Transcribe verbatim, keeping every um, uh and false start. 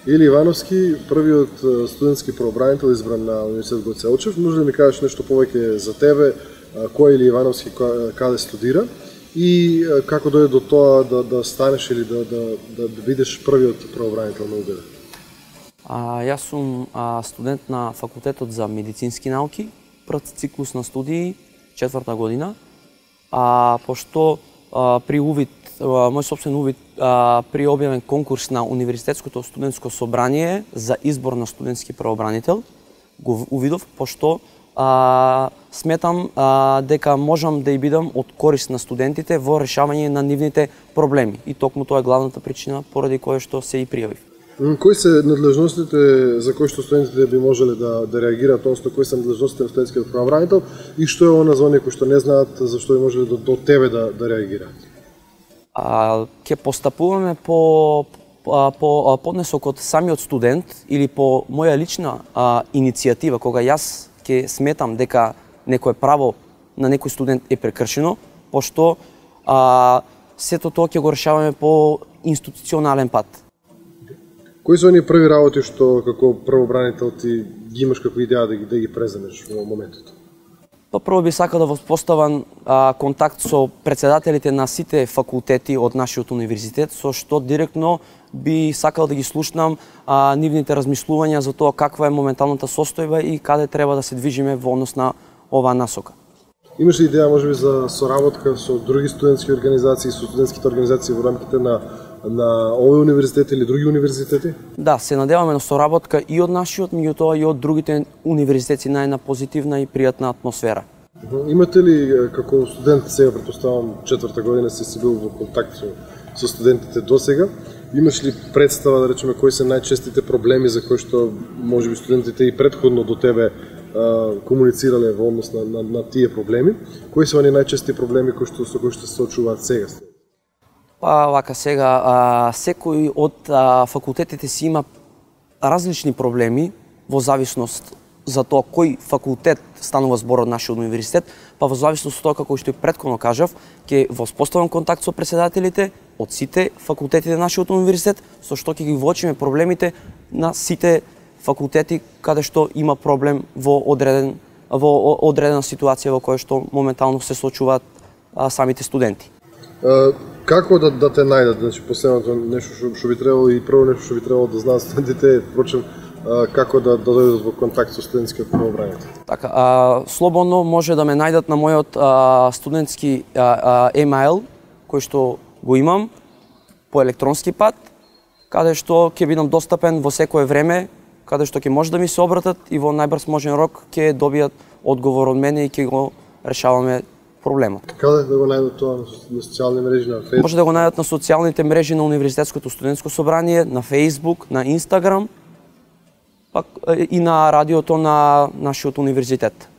Или Ивановски, првиот студентски правобранител избран на Универзитет Гоце Делчев. Може да ми кажеш нешто повеќе за тебе, кој Или Ивановски, каде студира и како дојде до тоа да, да станеш или да, да, да, да бидеш првиот правобранител на У Г Д? А, јас сум а, студент на Факултетот за медицински науки, прв циклус на студии, четврта година. А, пошто а, при увид, а, мој собствен увид а, при објавен конкурс на Универзитетското студентско собрание за избор на студентски правобранител, го увидов, пошто а, сметам а, дека можам да и бидам од корист на студентите во решавање на нивните проблеми. И токму тоа е главната причина поради која што се и пријавив. Кои се надлежностите за кои што студентите би можеле да, да реагираат, односно кои се надлежностите на студентскиот правобранител и што е она за оние кои што не знаат зашто би можеле до, до тебе да, да реагираат? А, ке постапуваме по, по, по поднесокот самиот студент или по моја лична а, иницијатива, кога јас ке сметам дека некое право на некој студент е прекршено, пошто а, сето тоа ќе го решаваме по институционален пат. Кои се оние први работи што како правобранител ти ги имаш како идеја да ги, да ги преземеш во моментот? Па прво би сакал да воспоставам а, контакт со председателите на сите факултети од нашиот универзитет, со што директно би сакал да ги слушнам а, нивните размислувања за тоа каква е моменталната состојба и каде треба да се движиме во однос на оваа насока. Имаш ли идеја можеби за соработка со други студентски организации, со студентските организации во рамките на на овој универзитет или други универзитети? Да, се надеваме на соработка и од нашиот, меѓутоа и од другите универзитети на една позитивна и пријатна атмосфера. Имате ли како студент, сега претпоставам четврта година си си бил во контакт со, со студентите досега, имаш ли представа да речеме кои се најчестите проблеми за кои што можеби студентите и претходно до тебе а, комуницирале во однос на, на, на тие проблеми? Кои се оние најчести проблеми кои што со кои што се соочуваат сега? Па, вака сега, а, секој од а, факултетите си има различни проблеми во зависност за тоа кој факултет станува збор од нашиот универзитет, па во зависност од тоа како што и претходно кажав, ќе воспоставам контакт со председателите од сите факултети на нашиот универзитет, со што ќе ги воочиме проблемите на сите факултети каде што има проблем во одреден во одредена ситуација во која што моментално се соочуваат а, самите студенти. Uh, како да, да те најдат? Значи, последното нешто што, што би требало и прво нешто што би требало да знаат студентите е, впрочем, uh, како да, да дојдат во контакт со студентскиот правобранител? Така, а, слободно може да ме најдат на мојот а, студентски а, а, емаил, кој што го имам по електронски пат, каде што ќе бидам достапен во секое време, каде што ќе може да ми се обратат и во најбрз можен рок ќе добијат одговор од мене и ќе го решаваме проблемот. Каде да го најдат тоа на социјални мрежи, на Facebook? Може да го најдат на социјалните мрежи на Универзитетското студентско собрание, на Facebook, на Instagram, пак и на радиото на нашиот универзитет.